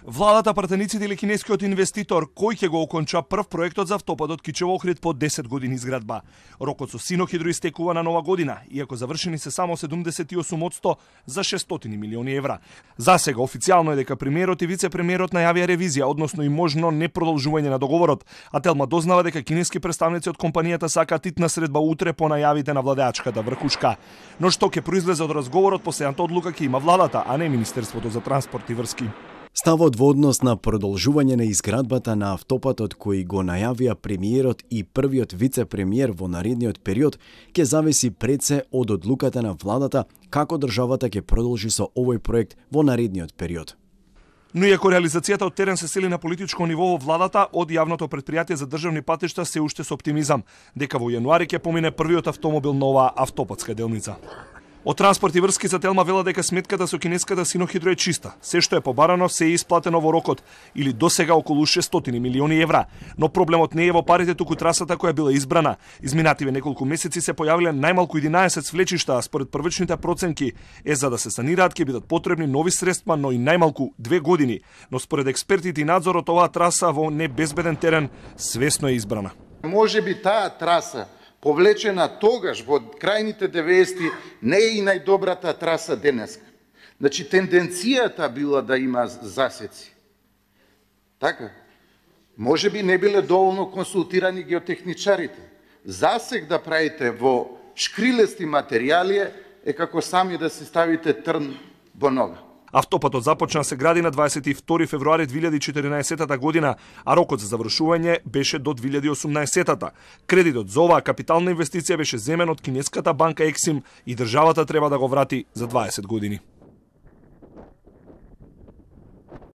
Владата, пратениците или кинескиот инвеститор кој ќе го оконча прв проектот за автопатот Кичево-Охрид по 10 години изградба. Рокот со Синохидро истекува на нова година, иако завршени се само 78% за 600 милиони евра. За сега официјално е дека премиерот и вице-премиерот најавија ревизија, односно и можно непродолжување на договорот, а Телма дознава дека кинески представници од компанијата сакаат итна средба утре по најавите на владеачката врхушка. Но што ќе произлезе од разговорот, последната одлука ќе има владата, а не Министерството за транспорт и врски. Ставот во однос на продолжување на изградбата на автопатот кој го најавија премиерот и првиот вице-премиер во наредниот период ќе зависи пред се од одлуката на владата како државата ќе продолжи со овој проект во наредниот период. Но иако реализацијата од терен се сели на политичко ниво во владата, од јавното претпријатие за државни патишта се уште со оптимизам, дека во јануари ќе помине првиот автомобил на оваа автопатска делница. Од транспорт и врски за Телма вела дека сметката со кинеската Синохидро е чиста. Се што е побарано се е исплатено во рокот, или досега околу 600 милиони евра. Но проблемот не е во парите, туку трасата која била избрана. Изминативе неколку месеци се појавиле најмалку 11 свлечишта, а според првичните проценки е за да се санираат ќе бидат потребни нови средства, но и најмалку 2 години. Но според експертите и надзорот оваа траса во небезбеден терен свесно е избрана. Може би таа траса повлечена тогаш во крајните 90-ти не е и најдобрата траса денеска. Значи тенденцијата била да има засеци. Така. Може би не биле доволно консултирани геотехничарите. Засек да правите во шкрилести материјали е како сами да се ставите трн во нога. Автопатот започна се гради на 22 февруари 2014 година, а рокот за завршување беше до 2018. Кредитот за оваа капитална инвестиција беше земен од кинеската банка Ексим и државата треба да го врати за 20 години.